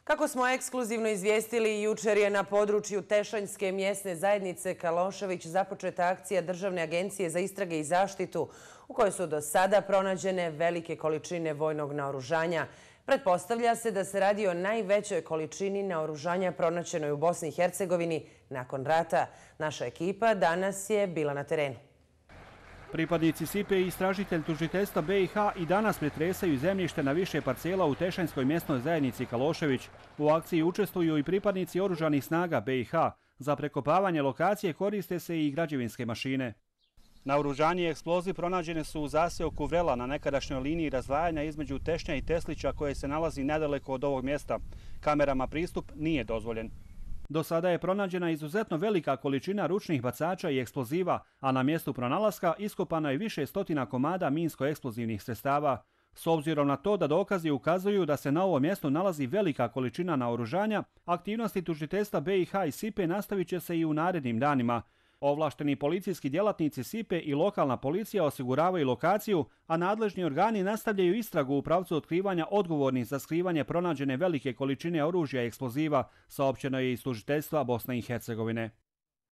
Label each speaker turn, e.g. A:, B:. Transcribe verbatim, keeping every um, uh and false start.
A: Kako smo ekskluzivno izvijestili, jučer je na području Tešanjske mjesne zajednice Kalošević započeta akcija Državne agencije za istrage i zaštitu u kojoj su do sada pronađene velike količine vojnog naoružanja. Pretpostavlja se da se radi o najvećoj količini naoružanja pronađenoj u Bosni i Hercegovini nakon rata. Naša ekipa danas je bila na terenu.
B: Pripadnici S I P E i istražitelj tužiteljstva B i H i danas pretresaju zemljište na više parcela u Tešanjskoj mjesnoj zajednici Kalošević. U akciji učestvuju i pripadnici oružanih snaga B i H. Za prekopavanje lokacije koriste se i građevinske mašine. Naoružanje i eksploziv pronađene su u zaseoku Vrela na nekadašnjoj liniji razdvajanja između Tešnja i Teslića koje se nalazi nedaleko od ovog mjesta. Kamerama pristup nije dozvoljen. Do sada je pronađena izuzetno velika količina ručnih bacača i eksploziva, a na mjestu pronalaska iskopano je više stotina komada minsko-eksplozivnih sredstava. S obzirom na to da dokazi ukazuju da se na ovom mjestu nalazi velika količina naoružanja, aktivnosti tužiteljstva B i H i S I P E nastavit će se i u narednim danima. Ovlašteni policijski djelatnici S I P E i lokalna policija osiguravaju lokaciju, a nadležni organi nastavljaju istragu u pravcu otkrivanja odgovornih za skrivanje pronađene velike količine oružja i eksploziva, saopćeno je iz tužiteljstva Bosne i Hercegovine.